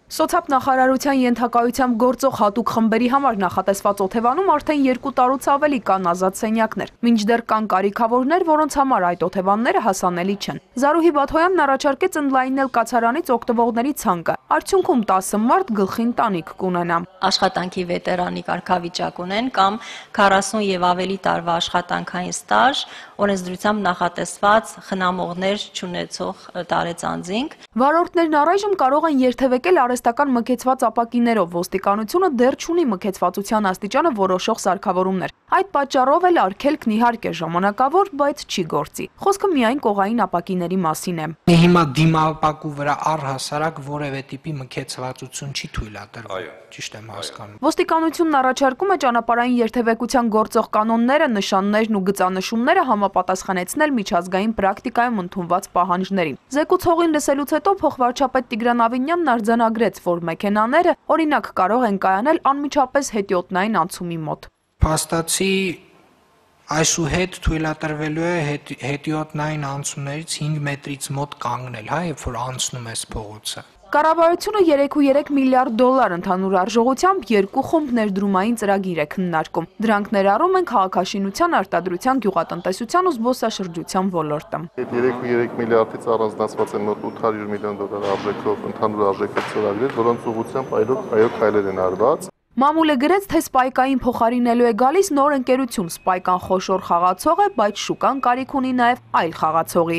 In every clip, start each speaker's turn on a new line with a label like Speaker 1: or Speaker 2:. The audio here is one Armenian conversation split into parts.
Speaker 1: Սոցիալ նախարարության ենթակայությամբ գործող հատուկ խմբերի համար նախատեսված օթևանում արդեն 2 տարուց ավելի կան ազատ սենյակներ, մինչդեռ կան կարիքավորներ, որոնց համար այդ օթևանները հասանելի չեն։ Զարուհի Բաթոյանն առաջարկեց ընդլայնել կացարանից օգտվողների ցանկը, արդյունքում 10 մարդ գլխին տանիք կունենա։
Speaker 2: Աշխատանքի վետերանի կարգավիճակ ունեն կամ 40 եւ ավելի տարվա աշխատանքային ստաժ, օրենսդրությամբ նախատեսված խնամողներ չունեցող տարեցանձինք։
Speaker 1: Վարորդներն առայժմ կարող են երթևեկել արհեստական մքեցված ապակիներով, ոստիկանությունը դեռ չունի մքեցվածության աստիճանը որոշող սարքավորումներ։ Այդ պատճառով էլ արգելքն իհարկե ժամանակավոր, բայց չի գործի։ Խոսքը միայն կողային ապակիների մասին է։
Speaker 3: Հիմա դիմապակու վրա առհասարակ որևէ տիպի մքեցվածություն չի թույլատրվում, ճիշտ եմ հասկանում։
Speaker 1: Ոստիկանությունն առաջարկում է ճանապարհային երթևեկության գործող կանոնները, նշաններն ու գծանշումները համապատասխանեցնել միջազգային պրակտիկայում ընդունված պահանջներին։ Զեկուցողին լսելուց հետո փոխվարչապետ Տիգրան Ավինյանն արձանագրեց, որ մեքենաները օրինակ կարող են կայանել անմիջապես հետիոտնային անցումի մոտ։
Speaker 3: Փաստացի այսուհետ թույլատրվելու է հետիոտնային անցումներից 5 մետրից մոտ կանգնել, երբ որ անցնում ես փողոցը։
Speaker 1: Կառավարությունը 3.3 միլիարդ դոլար ընդհանուր արժողությամբ 2 խումբ ներդրումային ծրագիր է քննարկում։ Դրանք ներառում են քաղաքաշինության, արտադրության, գյուղատնտեսության ու զբոսաշրջության ոլորտը։
Speaker 4: 3.3 միլիարդից առանձնացված են մոտ 800 միլիոն դոլար արժեքով ընդհանուր արժեքով ծրագրեր, որոնց ուղղությամբ այո քայլեր են արված։
Speaker 1: Մամուլը գրեց, թե Սպայկային փոխարինելու է գալիս նոր ընկերություն։ Սպայկան խոշոր խաղացող է, բայց շուկան կարիք ունի նաև այլ խաղացողի։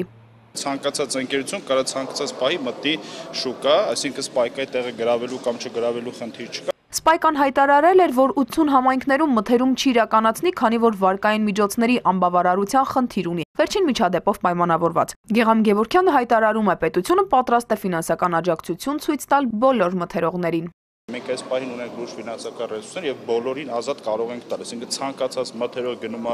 Speaker 5: Ցանկացած ընկերություն կարա ցանկացած պահի մտի շուկա, այսինքն Սպայկայի տեղը գրավելու կամ չգրավելու խնդիր չկա։
Speaker 1: Սպայկան հայտարարել էր, որ 80 համայնքներում մթերում չի իրականացնի, քանի որ վարկային միջոցների անբավարարության խնդիր ունի, վերջին միջադեպով պայմանավորված։ Գեգամ Գևորգյանը հայտարարում է, պետությունը պատրաստ է ֆինանսական աջակցություն ցույց տալ բոլոր մթերողներին։
Speaker 5: Մենք այս պահին ունենք լուրջ ֆինանսական ռեսուրսներ եւ բոլորին ազատ կարող ենք տալ, այսինքն ցանկացած մթերող գնում է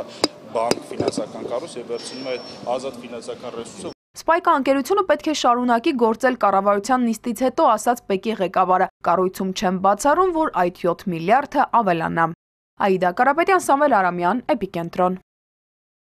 Speaker 5: բանկ, ֆինանսական կառույց եւ վերցնում է ազատ ֆինանսական ռեսուրսը։
Speaker 1: Սպայկա ընկերությունը պետք է շարունակի գործել կառավարության նիստից հետո, ասաց ՊԵԿ-ի ղեկավարը։ Կառույցում չեն բացառում, որ այդ 7 միլիարդը ավելանա։ Աիդա Կարապետյան, Սամվել Արամյան, Էպիկենտրոն։